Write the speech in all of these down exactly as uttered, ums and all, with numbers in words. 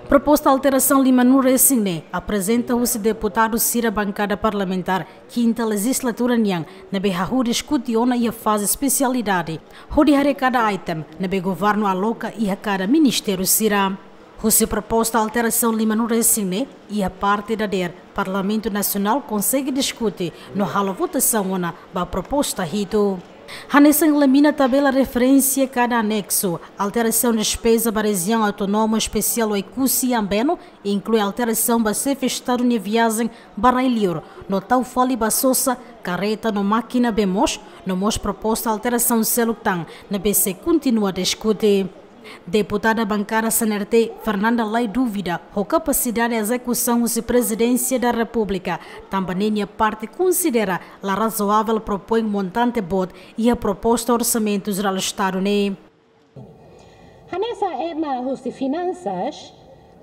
Proposta alterasaun lima nulu resin ne'e aprezenta husi deputadu sira bankada parlamentár kinta lejizlatura nian, ne'ebé hahú diskute ona iha faze espesialidade, hodi haree kada item ne'ebé governu aloka iha kada ministériu sira. Husi proposta alterasaun lima nulu resin ne'e, iha parte dadeer Parlamentu Nasionál konsege diskute no halo votasaun ona ba proposta hitu. Hanesan elimina tabela referénsia kada aneksu, alterasaun despeza ba Rejiaun Autónoma Espesiál Oekusi Ambeno, inklui alterasaun ba Xefe Estadu nia viajen ba rai-liur, no tau fali ba sosa, kareta no mákina bee moos, no mós proposta alterasaun seluk tan, ne'ebé sei kontinua diskute. Deputada bankada C N R T, Fernanda Lay duvida ho kapasidade ezekusaun husi Prezidénsia da Repúblika, tanba ne'e nia parte konsidera la razoavel propoin montante boot iha proposta Orsamentu Jerál Estadu ne'e. Hanesan ema husi finansas,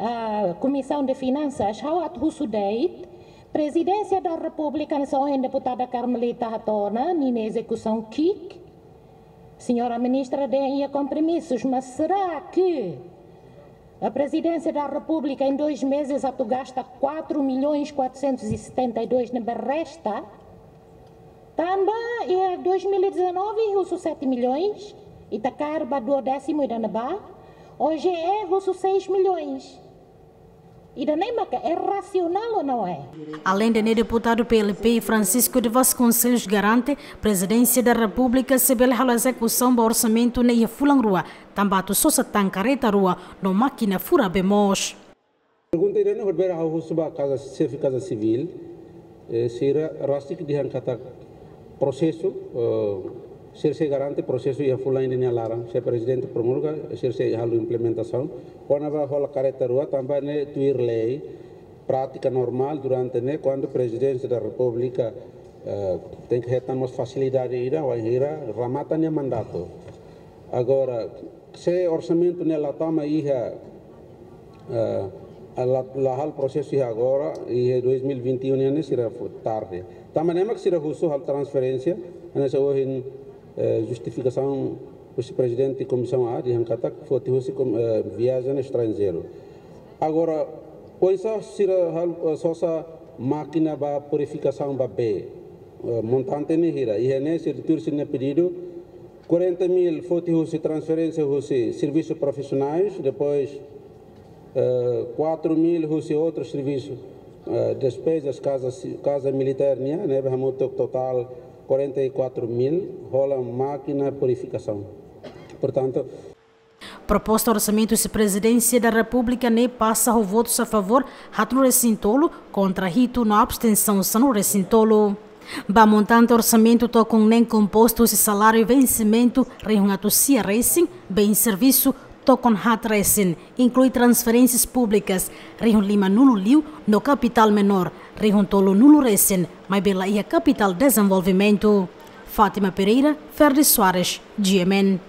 ah, Komisaun de Finansas, ha'u atu husu de'it, Prezidénsia da Repúblika hanesan ohin deputada Carmelita hato'o ona, ninia ezekusaun ki'ik, Señora Ministra dehan iha kompromisus, mas será que a Presidência da República em dois meses atu gasta quatro milhões quatrocentos e setenta e dois ne'ebé resta? Tanba iha dois mil e dezanove husu sete milhões, ita kaer ba duodécimo ida-ne'ebá, hoje é husu seis milhões. Ida-ne'e maka é racional ou não é? Além de ne'e, deputadu P L P Francisco de Vasconcelos garante, Prezidénsia da Repúblika sei bele halo ezekusaun ba orsamentu ne'e iha fulan rua, tanba atu sosa tan kareta rua no mákina fura bee moos. Pergunta ida-ne'e horibainrua ha'u husu ba Kaza, Xefe Kaza Sivíl, eh, sira rasik dehan katak prosesu, eh, sira sei garante prosesu iha fulan ida nia laran, se Prezidente promulga, sira sei halo implementasaun. Kona-ba hola kareta rua, tanba ne'e tuir lei, prátika normál durante ne'e, kuandu Prezidénsia da Repúblika, eh, tenke hetan mós fasilidade ida, wainhira remata nia mandatu. Agora, se orsamentu ne'e la tama iha, eh, la, la halo prosesu iha agora, iha dois mil e vinte e um nian ne'e sira fó tarde. Tanba ne'e mak sira husu halo transferénsia, hanesan ohin, eh, justifikasaun husi Prezidente Komisaun A, dehan katak foti husi kom-, eh, viajen estranjeiru. Agora, oinsá sira halo, eh, sosa mákina ba purifikasaun ba bee, eh, montante ne'e hira, iha ne'e sira tuir sira-nia pedidu, quarenta mil foti husi transferénsia husi servisu profisionais, depois, eh, quatro mil husi outro servisu, eh, despezas kaza si-, kaza militár nian, ne'ebé hamutuk totál quarenta e quatro mil, hola mákina purifikasaun. Portantu, proposta orsamentu husi Prezidénsia da Repúblika ne'e pasa ho votus a favór haat nulu resin tolu, kontra hitu no abstensaun sanulu resin tolu. Ba montante orsamentu tokon neen kompostu husi saláriu vensimentu rihun atus sia resin, bens servisu tokon haat resin, inklui transferénsias públikas rihun lima nulu liu no kapitál menór rihun tolu nulu resin, maibé la iha kapitál dezenvolvimentu. Fátima Pereira, Ferdi Soares, G M N.